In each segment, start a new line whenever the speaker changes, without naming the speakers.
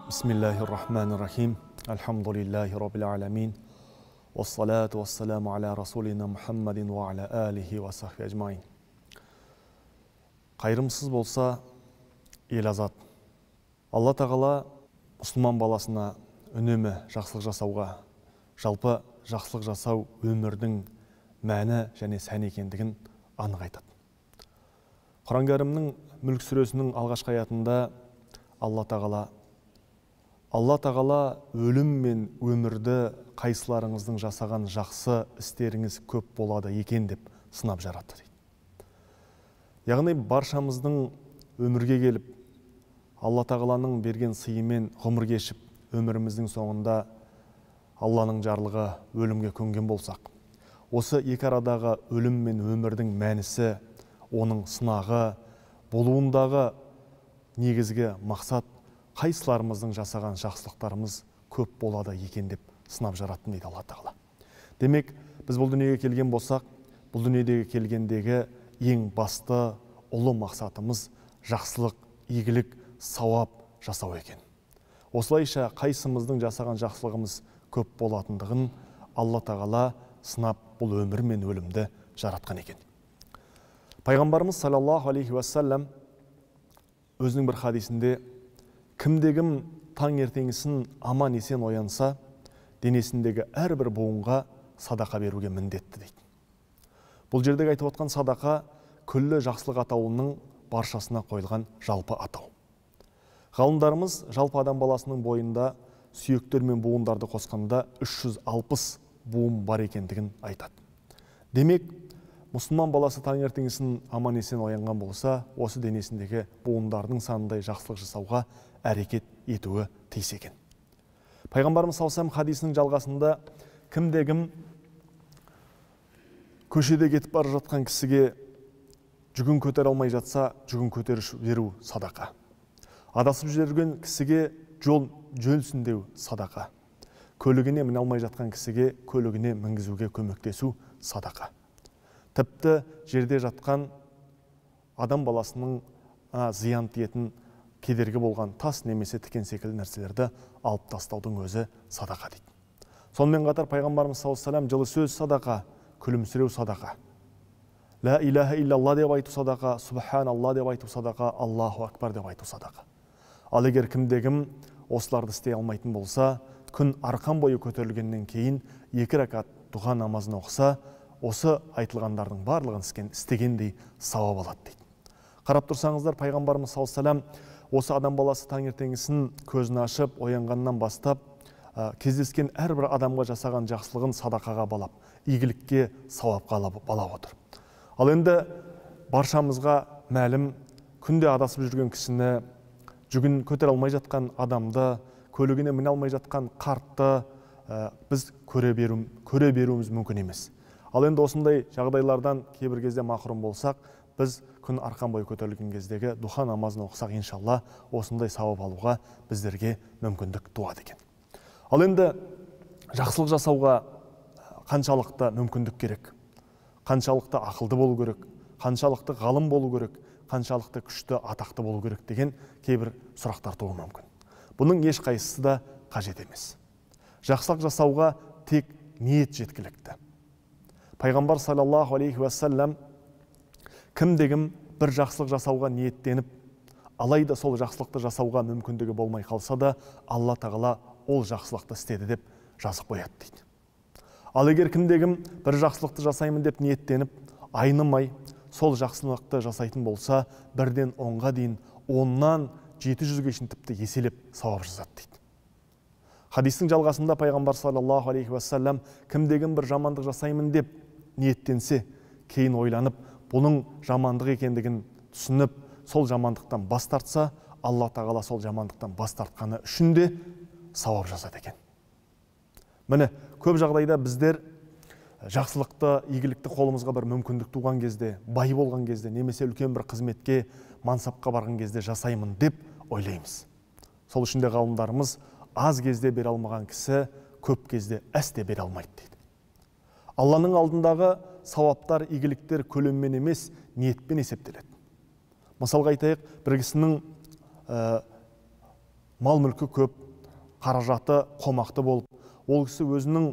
Бисмиллахир-рахманир-рахим. Альхамдулиллахи раббил аламин. Вассалату вассаламу аля расулина Мухаммадин ва аля алихи ва сахби ажмаин. Қайырымсыз болса ел азат. Алла тағала мұсылман баласына үнемі жақсылық жасауға, жалпы жақсылық жасау өмірдің мәні және сәні екендігін анық айтады. Құран кәрімнің Мүлк сүресінің алғашқы аятында Алла тағала өлім мен өмірді қайсыларыңыздың жасаған жақсы істеріңіз көп болады екен деп сынап жаратты дейді. Яғни баршамыздың өмірге келіп, Алла тағаланың берген сыйымен ғұмыр кешіп, өміріміздің соңында Алланың жарлығы өлімге көнген болсақ, осы екі арадағы өлім мен өмірдің мәнісі, оның сынағы, болуындағы негізгі мақсат қайсыларымыздың жасаған жақсылықтарымыз көп болады екен деп сынап жараттым дейді Алла тағала. Демек, біз бұл дүниеге келген болсақ, бұл дүниедегі келгендегі ең басты ұлы мақсатымыз жақсылық, игілік, сауап жасау екен. Осылайша қайсымыздың жасаған жақсылығымыз көп болатындығын Алла тағала сынап бұл өмір мен өлімді жаратқан екен. Пайғамбарымыз саллаллаху алейхи уассалам өзінің бір хадисінде кімде-кім таңертеңгісін аман есен оянса, денесіндегі әрбір буынға садақа беруге міндетті дейді. Бұл жердегі айтып отқан садақа күллі жақсылық атауының баршасына қойылған жалпы атау. Ғалымдарымыз жалпы адам баласының бойында сүйектер мен буындарды қосқанда 360 буын бар екендігін айтады. Демек, мұсылман баласы таңертеңгісін аман есен оянған болса, осы денесіндегі буындардың санындай жақсылық жасауға әрекет етуі тиіс екен. Пайғамбарымыз саллаллаху алейхи хадисінің жалғасында кімде-кім көшеде кетіп бара жатқан кісіге жүгін көтере алмай жатса, жүгін көтеріп беру садақа. Адасып жүрген кісіге жол жөнсіндеу садақа. Көлігіне міне алмай жатқан кісіге көлігіне мінгізуге көмектесу садақа. Тіпті жерде жатқан адам баласының зиян тиетін кедергі болған тас немесе тікен секілді нәрселерді алып тастаудың өзі садақа дейді. Сонымен қатар пайғамбарымыз саллаллаху алейхи вассалам жылы сөз садақа, күлімсіреу садақа. Ла илаха иллалла деп айту садақа, субханалла деп айту садақа, Аллаху акбар деп айту садақа. Ал егер кімде-кім осыларды істей алмайтын болса, күн арқан бойы көтерілгеннен кейін 2 ракат дұға намазын оқыса, осы айтылғандардың барлығын істегендей сауап алады дейді. Қарап тұрсаңыздар, пайғамбарымыз саллаллаху алейхи вассалам осы адам баласы таңертеңгісін көзін ашып, оянғаннан бастап, кездескен әрбір адамға жасаған жақсылығын садақаға балап, игілікке, сауапқа балап отыр. Ал енді баршамызға мәлім, күнде адасып жүрген кісіні, жүгін көтере алмай жатқан адамды, көлігіне міне алмай жатқан қартты біз көре беруіміз мүмкін емес. Ал енді осындай жағдайлардан кейбір кезде мақрұм болсақ, біз күн арқан бойы көтерілген кездегі дұға намазын оқысақ, иншалла, осындай сауап алуға біздерге мүмкіндік туады екен. Ал енді жақсылық жасауға қаншалықты мүмкіндік керек, қаншалықты ақылды болу керек, қаншалықты ғалым болу керек, қаншалықты күшті, атақты болу керек деген кейбір сұрақтар туы мүмкін. Бұның ешқайсысы да қажет емес. Жақсылық жасауға тек ниет жеткілікті. Пайғамбар саллаллаху алейхи уассалам кімде-кім бір жақсылық жасауға ниеттеніп, алайда сол жақсылықты жасауға мүмкіндігі болмай қалса да, Алла тағала ол жақсылықты істеді деп жазып қояды дейді. Ал егер кімде-кім бір жақсылықты жасаймын деп ниеттеніп, айнымай сол жақсылықты жасайтын болса, 1-ден 10-ға дейін, 10-нан 700-ге шейін тіпті еселеп сауап жазады дейді. Хадистің жалғасында пайғамбар саллаллаху алейхи уассалам кімде-кім бір жамандық жасаймын деп ниеттенсе, кейін ойланып, бұның жамандық екендігін түсініп, сол жамандықтан бас тартса, Алла тағала сол жамандықтан бас тартқаны үшін де сауап жазады екен. Міне, көп жағдайда біздер жақсылықты, игілікті қолымызға бір мүмкіндік туған кезде, бай болған кезде, немесе үлкен бір қызметке, мансапқа барған кезде жасаймын деп ойлаймыз. Сол үшін де ғалымдарымыз аз кезде бере алмаған кісі көп кезде әсте бере алмайды дейді. Алланың алдындағы сауаптар, игіліктер көлеммен емес, ниетпен есептеледі. Мысалға айтайық, бір кісінің мал мүлкі көп, қаражаты қомақты болып, ол кісі өзінің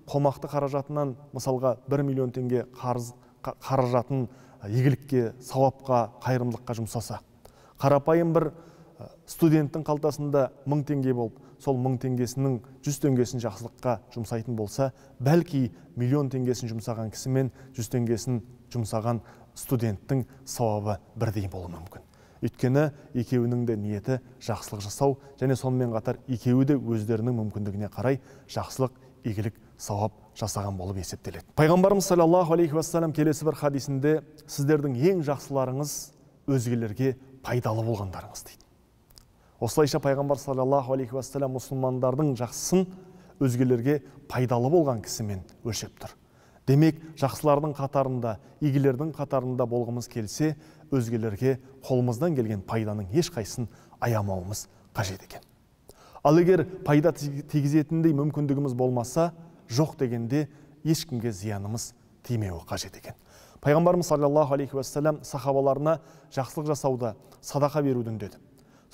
қомақты қаражатынан мысалға 1 миллион теңге қаражатын игілікке, сауапқа, қайырымдылыққа жұмсаса, қарапайым бір студенттің қалтасында 1000 теңге болып, сол 1000 теңгесінің 100 теңгесін жақсылыққа жұмсайтын болса, бәлки миллион теңгесін жұмсаған кісі мен 100 теңгесін жұмсаған студенттің сауабы бірдей болуы мүмкін. Өйткені екеуінің де ниеті жақсылық жасау, және сонымен қатар екеуі де өздерінің мүмкіндігіне қарай жақсылық, игілік, сауап жасаған болып есептеледі. Пайғамбарымыз саллаллаху алейхи уассалам келесі бір хадисінде сіздердің ең жақсыларыңыз өзгелерге пайдалы болғандарыңыз дейді. Осылайша пайғамбар саллаллаху алейхи уассалам мұсылмандардың жақсысын өзгелерге пайдалы болған кісімен өлшеп тұр. Демек, жақсылардың қатарында, игілердің қатарында болғымыз келсе, өзгелерге қолымыздан келген пайданың ешқайсысын аямауымыз қажет екен. Ал егер пайда тигізетіндей мүмкіндігіміз болмаса, жоқ дегенде ешкімге зиянымыз тимеуі қажет екен. Пайғамбарымыз саллаллаху алейхи уассалам сахабаларына жақсылық жасауда садақа беруді үндеді.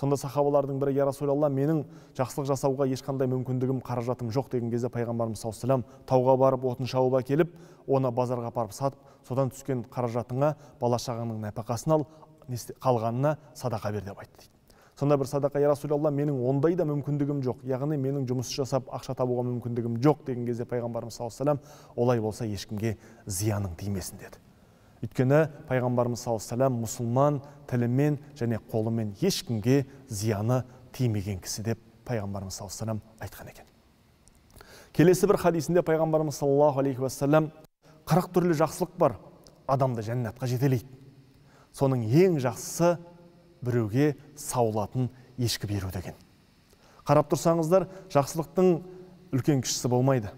Сонда сахабалардың бірі: "Я Расулалла, менің жақсылық жасауға ешқандай мүмкіндігім, қаражатым жоқ" деген кезде пайғамбарымыз саллаллаху алейхи вассалам тауға барып отын шауып әкеліп, оны базарға апарып сатып, содан түскен қаражатыңа бала шағаңның нәпақасын ал, қалғанына садақа бер деп айтты дейді. Сонда бір садақа: "Я Расулалла, менің ондай да мүмкіндігім жоқ, яғни менің жұмыс жасап ақша табуға мүмкіндігім жоқ" деген кезде пайғамбарымыз саллаллаху алейхи вассалам: "Олай болса ешкімге зияның тимесін" деді. Өйткені пайғамбарымыз саллаллаху алейхи вассалам мұсылман тілімен және қолымен ешкімге зияны тимеген кісі деп пайғамбарымыз саллаллаху алейхи вассалам айтқан екен. Келесі бір хадисінде пайғамбарымыз саллаллаху алейхи вассалам: 40 түрлі жақсылық бар, адамды жәннатқа жетелейді. Соның ең жақсысы біреуге саулатын ешкі беру деген. Қарап тұрсаңыздар, жақсылықтың үлкен кішісі болмайды.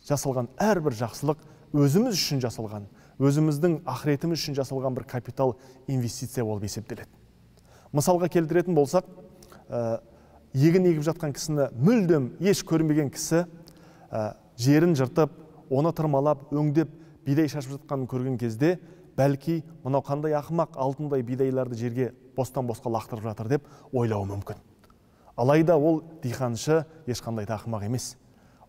Жасалған әрбір жақсылық өзіміз үшін жасалған, өзіміздің ақыретіміз үшін жасалған бір капитал инвестиция болып есептеледі. Мысалға келтіретін болсақ, егін егіп жатқан кісіні мүлдем еш көрмеген кісі жерін жыртып, оны тырмалап, өңдеп, бидай шашып жатқанын көрген кезде, бәлки мынау қандай ақымақ, алтындай бидайларды жерге бостан-босқа лақтырып жатыр деп ойлауы мүмкін. Алайда ол диқаншы ешқандай да ақымақ емес.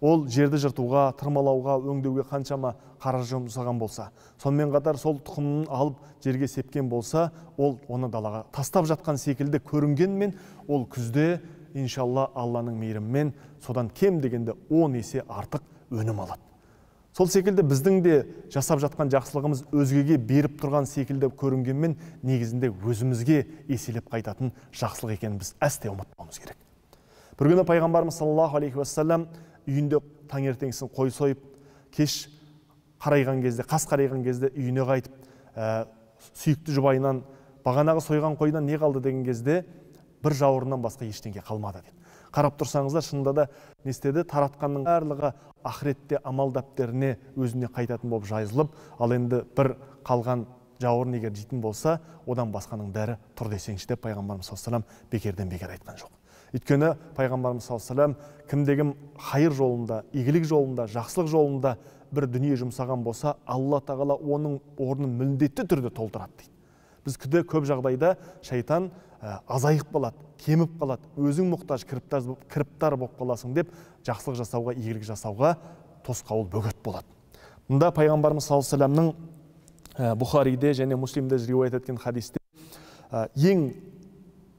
Ол жерді жыртуға, тырмалауға, өңдеуге қаншама қаржы жұмсаған болса, сонымен қатар сол тұқымын алып жерге сепкен болса, ол оны далаға тастап жатқан секілді көрінгенмен, ол күзде иншалла Алланың мейірімімен содан кем дегенде 10 есе артық өнім алады. Сол секілді біздің де жасап жатқан жақсылығымыз өзгеге беріп тұрған секілді көрінгенмен, негізінде өзімізге еселеп қайтатын жақсылық екенін біз әсте ұмытпауымыз керек. Бір күні пайғамбарымыз саллаллаху алейхи уассалам үйінде таңертеңгісін қой сойып, кеш қарайған кезде, қас қарайған кезде үйіне қайтып, сүйікті жұбайынан, бағанағы сойған қойдан не қалды деген кезде, бір жауырыннан басқа ештеңе қалмады дейді. Қарап тұрсаңыздар, шынында да не істеді? Таратқанның барлығы ақыретте амал дәптеріне өзіне қайтатын болып жазылып, ал енді бір қалған жауырын егер жейтін болса, одан басқаның бәрі тұр десеңші деп пайғамбарымыз саллаллаху алейхи вассалам бекерден бекер айтқан жоқ. Өйткені пайғамбарымыз саллаллаху алейхи вассалам кімдегім хайыр жолында, игілік жолында, жақсылық жолында бір дүние жұмсаған болса, Алла тағала оның орнын міндетті түрде толтырады дейді. Біз көп жағдайда шайтан азайып қалады, кеміп қалады, өзің мұқтаж, кіріптар болып қаласың деп жақсылық жасауға, игілік жасауға тосқауыл бөгет болады. Мұнда пайғамбарымыз саллаллаху алейхи вассаламның Бұхариде және Муслимде риуаят еткен хадисте ең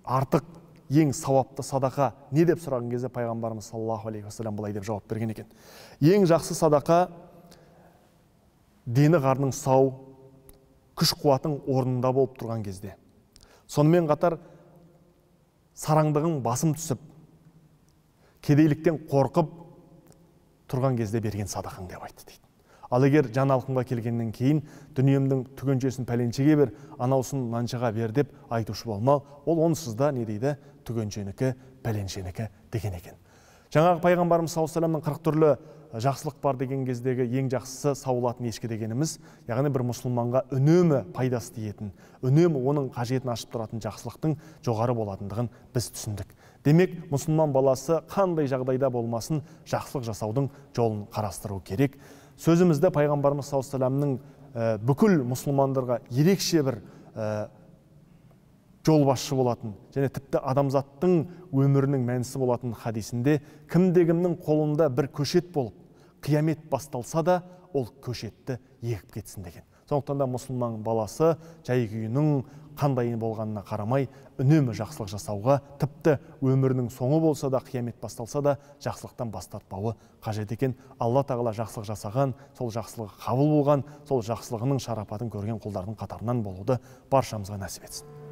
артық, ең сауапты садақа не деп сұраған кезде пайғамбарымыз саллаллаху алейхи вассалам былай деп жауап берген екен: ең жақсы садақа дені қарның сау, күш қуатың орнында болып тұрған кезде, сонымен қатар сараңдығың басым түсіп, кедейліктен қорқып тұрған кезде берген садақаң деп айтты дейді. Ал егер жаңалыққа келгеннен кейін дүниемдің түгеншесін пәленшеге бер, анаусын мынаншаға бер деп айтушы болмау, ол онсыз да не дейді? Түгеншенікі, пәленшенікі деген екен. Жаңағы пайғамбарымыз саллаллаху алейхи вассаламның 40 түрлі жақсылық бар деген кездегі ең жақсысы саулатын ешкі дегеніміз, яғни бір мұсылманға үнемі пайдасы тиетін, үнемі оның қажетін ашып тұратын жақсылықтың жоғары болатындығын біз түсіндік. Демек, мұсылман баласы қандай жағдайда болмасын жақсылық жасаудың жолын қарастыру керек. Сөзімізді пайғамбарымыз саллаллаху алейхи вассаламның бүкіл мұсылмандарға ерекше бір жол басшы болатын және тіпті адамзаттың өмірінің мәнісі болатын хадисінде кімде-кімнің қолында бір көшет болып қиямет басталса да ол көшетті егіп кетсін деген. Сондықтан да мұсылман баласы жай күйінің қандай болғанына қарамай үнемі жақсылық жасауға, тіпті өмірінің соңы болса да, қиямет басталса да жақсылықтан бас тартпауы қажет екен. Алла тағала жақсылық жасаған, сол жақсылығы қабыл болған, сол жақсылығының шарапатын көрген құлдардың қатарынан болуды баршамызға нәсіп етсін.